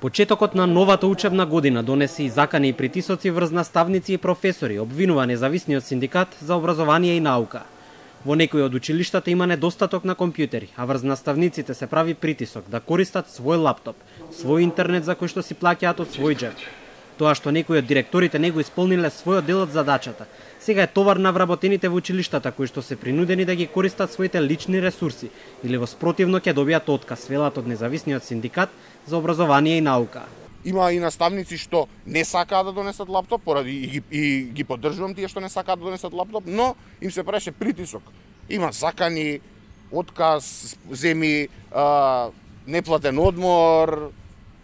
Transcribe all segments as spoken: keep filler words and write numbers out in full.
Почетокот на новата учебна година донесе и закани и притисоци врз наставници и професори, обвинува независниот синдикат за образование и наука. Во некои од училиштата има недостаток на компјутери, а врз наставниците се прави притисок да користат свој лаптоп, свој интернет за кој што си плаќаат од свој џеб. Тоа што некои од директорите не го исполниле својот дел од задачата, сега е товар на вработените во училиштата кои што се принудени да ги користат своите лични ресурси или во спротивно ќе добијат отказ, велат од независниот синдикат за образование и наука. Има и наставници што не сакаат да донесат лаптоп, поради и ги, и ги поддржувам тие што не сакаат да донесат лаптоп, но им се преше притисок. Има закани, отказ, земи, а, неплатен одмор,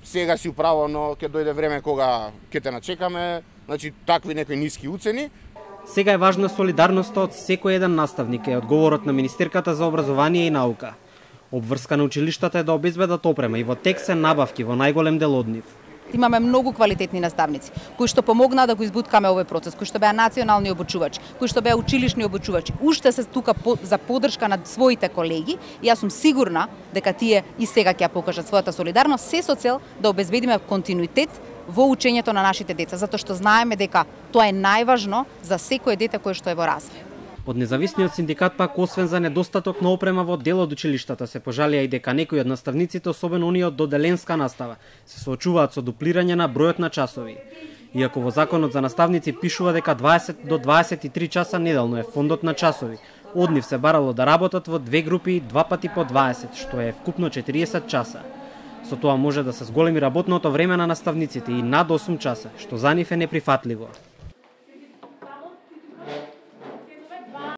сега си управено, ќе дојде време кога ќе те начекаме, значи такви некои ниски уцени. Сега е важна солидарноста од секој еден наставник, е одговорот на Министерката за образование и наука. Обврска на училиштата е да обезбедат опрема и во тек се набавки во најголем дел од нив. Имаме многу квалитетни наставници кои што помогнаа да го избуткаме овој процес, кои што беа национални обучувачи, кои што беа училишни обучувачи. Уште се тука по, за поддршка на своите колеги и јас сум сигурна дека тие и сега ќе покажат својата солидарност, се со цел да обезбедиме континуитет во учењето на нашите деца, затоа што знаеме дека тоа е најважно за секое дете кое што е во развој. Од независниот синдикат пак, освен за недостаток на опрема во дел од училиштата, се пожалија и дека некои од наставниците, особено оние од доделенска настава, се соочуваат со дуплирање на бројот на часови. Иако во законот за наставници пишува дека дваесет до дваесет и три часа неделно е фондот на часови, од нив се барало да работат во две групи два пати по дваесет, што е вкупно четириесет часа. Со тоа може да се зголеми работното време на наставниците и над осум часа, што за нив е неприфатливо.